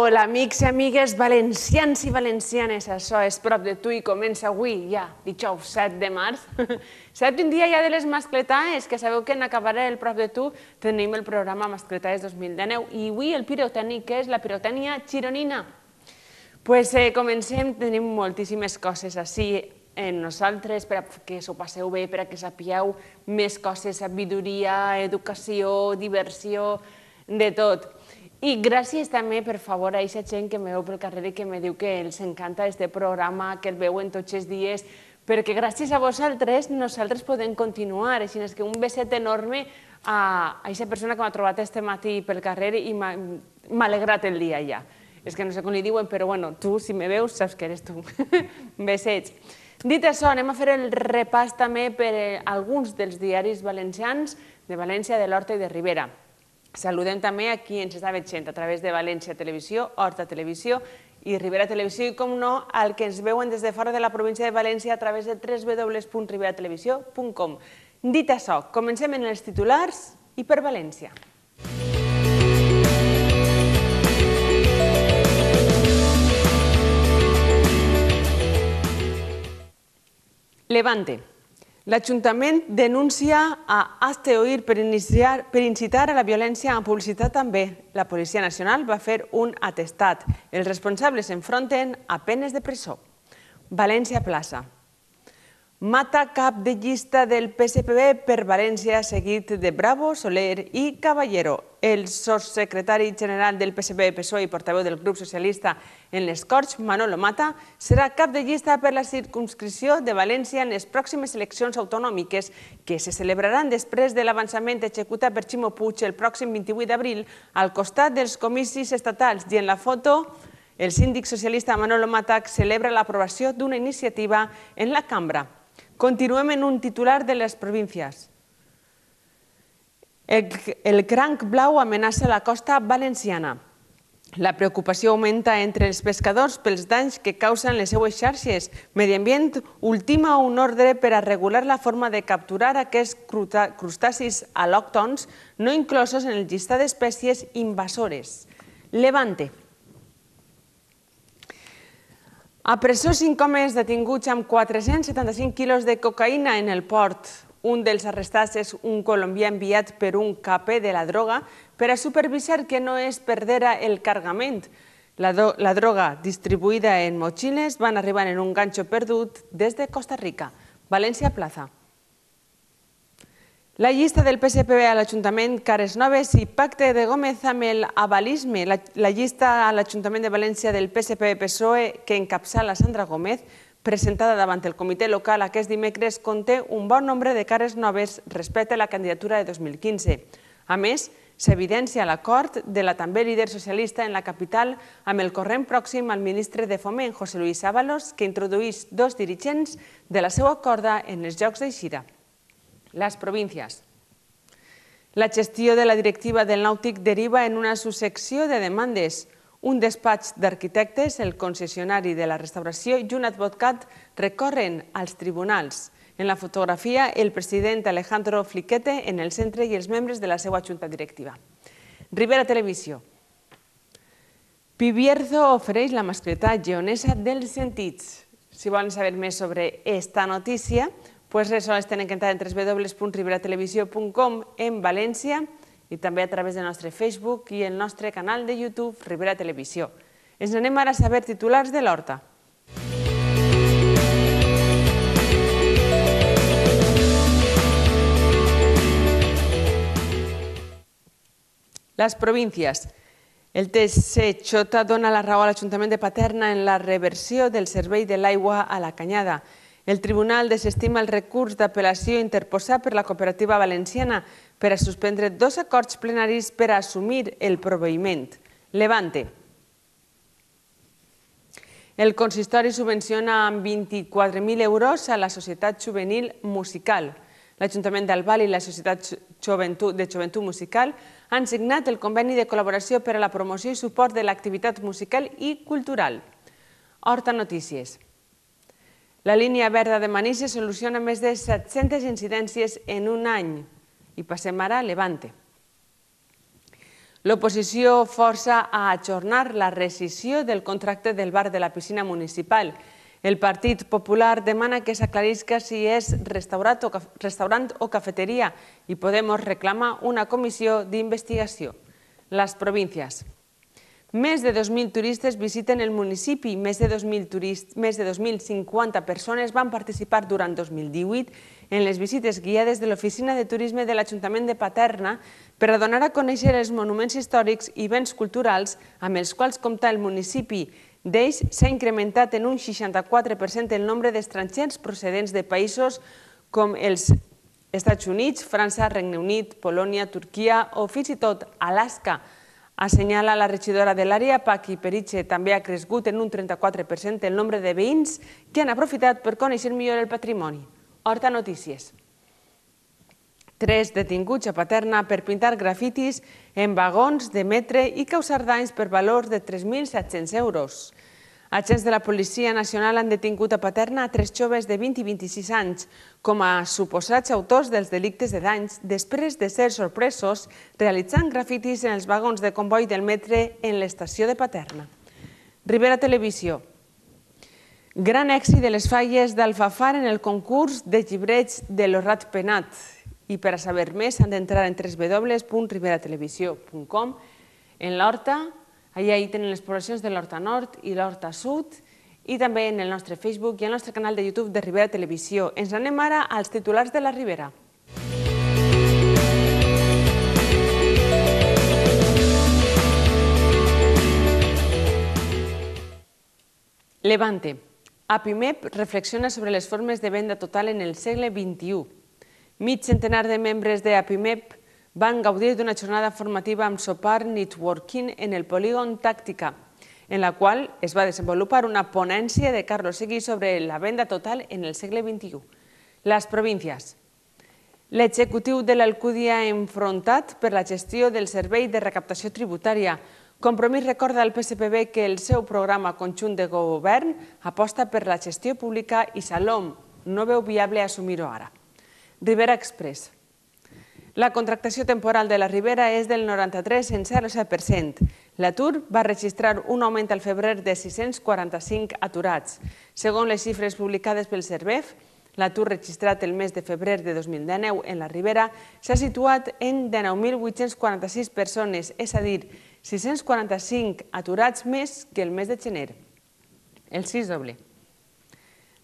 Hola, amics i amigues valencians i valencianes. Això és Prop de tu i comença avui, ja, dijous 7 de març. Saps un dia ja de les mascletaes, que sabeu que en acabar el Prop de tu tenim el programa Mascletaes 2019 i avui el pirotècnic és la pirotècnia gironina. Doncs comencem, tenim moltíssimes coses així en nosaltres perquè s'ho passeu bé, perquè sapigueu més coses, sabidoria, educació, diversió, de tot. I gràcies també, per favor, a aquesta gent que me veu pel carrer i que me diu que els encanta aquest programa, que el veuen tots els dies, perquè gràcies a vosaltres nosaltres podem continuar. Així que un beset enorme a aquesta persona que m'ha trobat este matí pel carrer i m'ha alegrat el dia ja. És que no sé com li diuen, però bueno, tu, si me veus, saps que eres tu. Besets. Dit això, anem a fer el repàs també per alguns dels diaris valencians de València, de l'Horta i de Ribera. Saludem també a qui ens està veient a través de València Televisió, Horta Televisió i Ribera Televisió i, com no, al que ens veuen des de fora de la província de València a través de www.riberatelevisió.com. Dit això, comencem en els titulars i per València. Levante. L'Ajuntament denuncia a Hazte Oír per incitar a la violència en publicitat també. La Policia Nacional va fer un atestat. Els responsables s'enfronten a penes de presó. València Plaça. Mata cap de llista del PSPB per València, seguit de Bravo, Soler i Caballero. El sotssecretari general del PSPB-PSOE i portaveu del grup socialista en les Corts, Manolo Mata, serà cap de llista per la circumscripció de València en les pròximes eleccions autonòmiques que se celebraran després de l'avançament executat per Ximo Puig el pròxim 28 d'abril al costat dels comicis estatals. I en la foto, el síndic socialista Manolo Mata celebra l'aprovació d'una iniciativa en la cambra. Continuem en un titular de les províncies. El cranc blau amenaça la costa valenciana. La preocupació augmenta entre els pescadors pels danys que causen les seues xarxes. Medi Ambient ultima un ordre per a regular la forma de capturar aquests crustacis al·lòctons no inclosos en el llistat d'espècies invasores. Levante. A presó 5 homes detinguts amb 475 quilos de cocaïna en el port. Un dels arrestats és un colombià enviat per un capé de la droga per a supervisar que no es perdera el cargament. La droga distribuïda en motxilles van arribar en un ganxo perdut des de Costa Rica. València Plaza. La llista del PSPB a l'Ajuntament, cares noves i pacte de Gómez amb el avalisme. La llista a l'Ajuntament de València del PSPB-PSOE que encapçala Sandra Gómez, presentada davant el comitè local aquest dimecres, conté un bon nombre de cares noves respecte a la candidatura de 2015. A més, s'evidencia l'acord de la també líder socialista en la capital amb el corrent pròxim al ministre de Foment, José Luis Ábalos, que introdueix 2 dirigents de la seva corda en els Jocs d'Eixida. Les províncies. La gestió de la directiva del Nàutic deriva en una successió de demandes. Un despatx d'arquitectes, el concessionari de la restauració i un advocat recorren als tribunals. En la fotografia, el president Alejandro Fliquete en el centre i els membres de la seva junta directiva. Ribera Televisió. Pibierzo ofereix la mascletà geonesa dels sentits. Si volen saber més sobre esta notícia, doncs res, sols tenen que entrar en www.riberatelevisió.com en València i també a través del nostre Facebook i el nostre canal de YouTube Ribera Televisió. Ens anem ara a saber titulars de l'Horta. Les províncies. El TSJ dona la raó a l'Ajuntament de Paterna en la reversió del servei de l'aigua a la Canyada. El tribunal desestima el recurs d'apel·lació interposat per la cooperativa valenciana per a suspendre 2 acords plenaris per a assumir el proveïment. Levante. El consistori subvenciona amb 24.000 euros a la Societat Juvenil Musical. L'Ajuntament d'Albal i la Societat de Joventut Musical han signat el conveni de col·laboració per a la promoció i suport de l'activitat musical i cultural. Horta Notícies. La línia verda de Manises soluciona més de 700 incidències en un any. I passem ara a Levante. L'oposició força a ajornar la rescissió del contracte del bar de la piscina municipal. El Partit Popular demana que s'aclarisca si és restaurant o cafeteria i Podemos reclama una comissió d'investigació. Les províncies. Més de 2.000 turistes visiten el municipi, més de 2.050 persones van participar durant 2018 en les visites guiades de l'Oficina de Turisme de l'Ajuntament de Paterna per a donar a conèixer els monuments històrics i béns culturals amb els quals compta el municipi. D'ells s'ha incrementat en un 64% el nombre d'estrangers procedents de països com els Estats Units, França, Regne Unit, Polònia, Turquia o fins i tot Alaska. Assenyala la regidora de l'àrea, Paqui Periche. També ha crescut en un 34% el nombre de veïns que han aprofitat per conèixer millor el patrimoni. Horta Notícies. 3 detinguts a Paterna per pintar grafitis en vagons de metre i causar danys per valor de 3.700 euros. Agents de la Policia Nacional han detingut a Paterna a 3 joves de 20 i 26 anys com a suposats autors dels delictes de danys després de ser sorpresos realitzant grafitis en els vagons de comboi del metre en l'estació de Paterna. Ribera Televisió. Gran èxit de les falles d'Alfafar en el concurs de llibreig de l'Orrat Penat. I per a saber més han d'entrar en www.riberatelevisió.com. En l'Horta, allà hi tenen les poblacions de l'Horta Nord i l'Horta Sud, i també en el nostre Facebook i el nostre canal de YouTube de Ribera Televisió. Ens anem ara als titulars de la Ribera. Levante. APIMEP reflexiona sobre les formes de venda total en el segle XXI. Mig centenar de membres de APIMEP van gaudir d'una jornada formativa amb sopar networking en el polígon Tàctica, en la qual es va desenvolupar una ponència de Carlos Seguí sobre la venda total en el segle XXI. Les províncies. L'executiu de l'Alcúdia enfrontat per la gestió del servei de recaptació tributària. Compromís recorda al PSPB que el seu programa conjunt de govern aposta per la gestió pública i Salom no veu viable assumir-ho ara. Ribera Express. La contractació temporal de la Ribera és del 93,07%. L'atur va registrar un augment al febrer de 645 aturats. Segons les xifres publicades pel Servef, l'atur registrat el mes de febrer de 2019 en la Ribera s'ha situat en 19.846 persones, és a dir, 645 aturats més que el mes de gener. El 6 doble.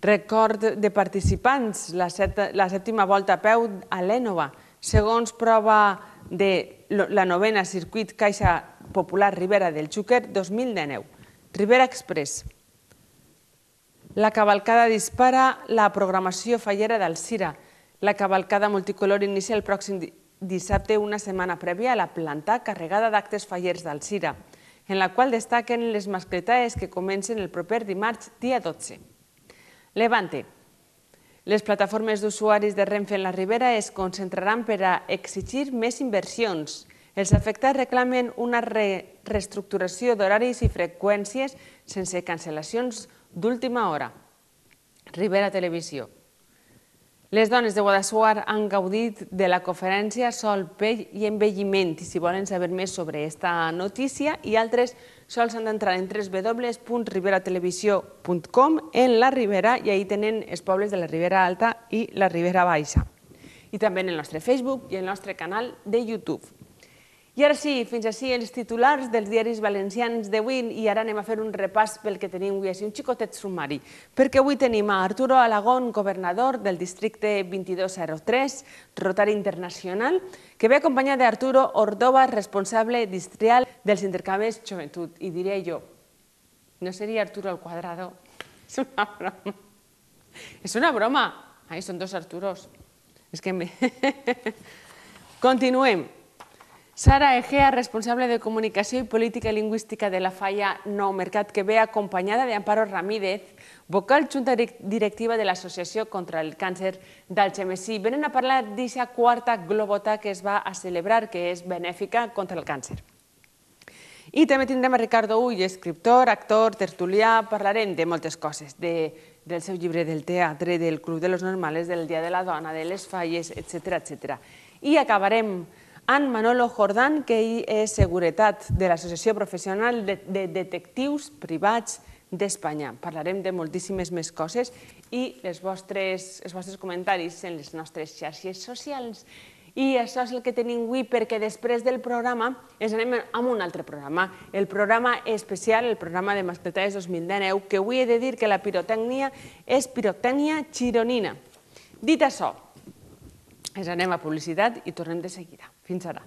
Record de participants, la sèptima volta a peu a l'Énova. Segons prova de la novena circuit Caixa Popular Ribera del Xúquer 2019. Ribera Express. La cavalcada dispara la programació fallera d'Alzira. La cavalcada multicolor inicia el pròxim dissabte, una setmana prèvia a la planta carregada d'actes fallers d'Alzira, en la qual destaquen les mascletaes que comencen el proper dimarts, dia 12. Levante. Les plataformes d'usuaris de Renfe en la Ribera es concentraran per a exigir més inversions. Els afectats reclamen una reestructuració d'horaris i freqüències sense cancel·lacions d'última hora. Ribera Televisió. Les dones de Guadassuar han gaudit de la conferència Sol, Pell i Envelliment. I si volen saber més sobre aquesta notícia i altres, sols han d'entrar en www.riberatelevisió.com en la Ribera i ahí tenen els pobles de la Ribera Alta i la Ribera Baixa. I també en el nostre Facebook i el nostre canal de YouTube. I ara sí, fins així els titulars dels diaris valencians d'avui i ara anem a fer un repàs pel que tenim avui, així un xicotet sumari, perquè avui tenim a Arturo Alagón, governador del districte 2203, Rotari Internacional, que ve acompanyat d'Arturo Ordova, responsable distrial dels intercanvis Joventut. I diré jo, no seria Arturo al quadrado? És una broma. És una broma. Ai, són dos Arturos. És que... Continuem. Sara Egea, responsable de Comunicació i Política Lingüística de la Falla Nou Mercat, que ve acompanyada d'Amparo Ramírez, vocal junta directiva de l'Associació contra el Càncer d'Algemesí. Venen a parlar d'aquesta quarta Globota que es va a celebrar, que és benèfica contra el càncer. I també tindrem a Ricardo Ull, escriptor, actor, tertulià, parlarem de moltes coses, del seu llibre, del teatre, del Club de los Normales, del Dia de la Dona, de les falles, etc. I acabarem en Manolo Jordán, que ell és seguretat de l'Associació Professional de Detectius Privats d'Espanya. Parlarem de moltíssimes més coses i els vostres comentaris en les nostres xarxes socials. I això és el que tenim avui, perquè després del programa ens anem a un altre programa, el programa especial, el programa de Mascletades 2019, que avui he de dir que la pirotècnia és pirotècnia gironina. Dit això, ens anem a publicitat i tornem de seguida. Fins ara.